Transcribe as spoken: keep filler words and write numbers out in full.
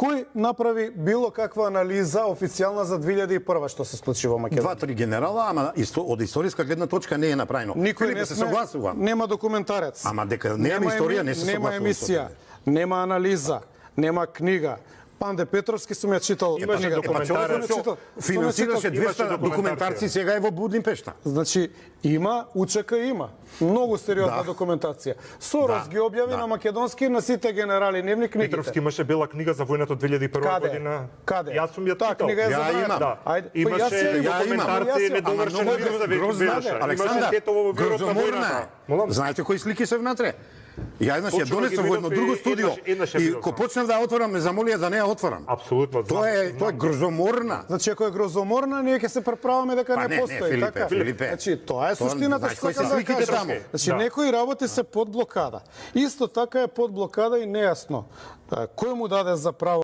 Кој направи било каква анализа официјална за две илјади и прва што се случи во Македонија? Два-три генерала, ама исто, од историска гледна точка не е направено. Никој не се согласувам. Нема документарец. Ама дека нема историја, не се согласувам. Нема емисија, нема анализа, нема книга. Панде Петровски сум ја читал книгата. Документарец. Финансираше двеста документарци, сега е во Будимпешта. Значи, има, УЧК има. Многу сериозна Да. документација. Сорос Да, ги објави да. на македонски на сите генерали нивни книгите. Петровски имаше бела книга за војната од две илјади и прва Каде? година. Каде? Јас сум ја Таа читал. книга е Ја забранета. имам. Да. Ајде, па Имаше јас ја ја имам. документарци Ама недовршени многу за грозна. Веша. Александр, Имаше Тетово во бирот на грозоморна војната. е. Молам. Знаете кои слики се внатре? Ја еднаш ја Точно донесов ги во едно видов друго и студио еднаш- еднаш ја и видов, ко знам. почнав да ја отворам, ме замолија да не ја отворам. Апсолутно. Тоа е тоа е грозоморна. Значи, ако е грозоморна, ние ќе се преправаме дека Па не не, не, постои, Филипе, така? Филипе. Значи, тоа е Тоа, суштината знаеш што кои се сакам да сликите кажам. таму? Значи, Да. некои работи се под блокада. Исто така е под блокада и нејасно. Кој му даде за право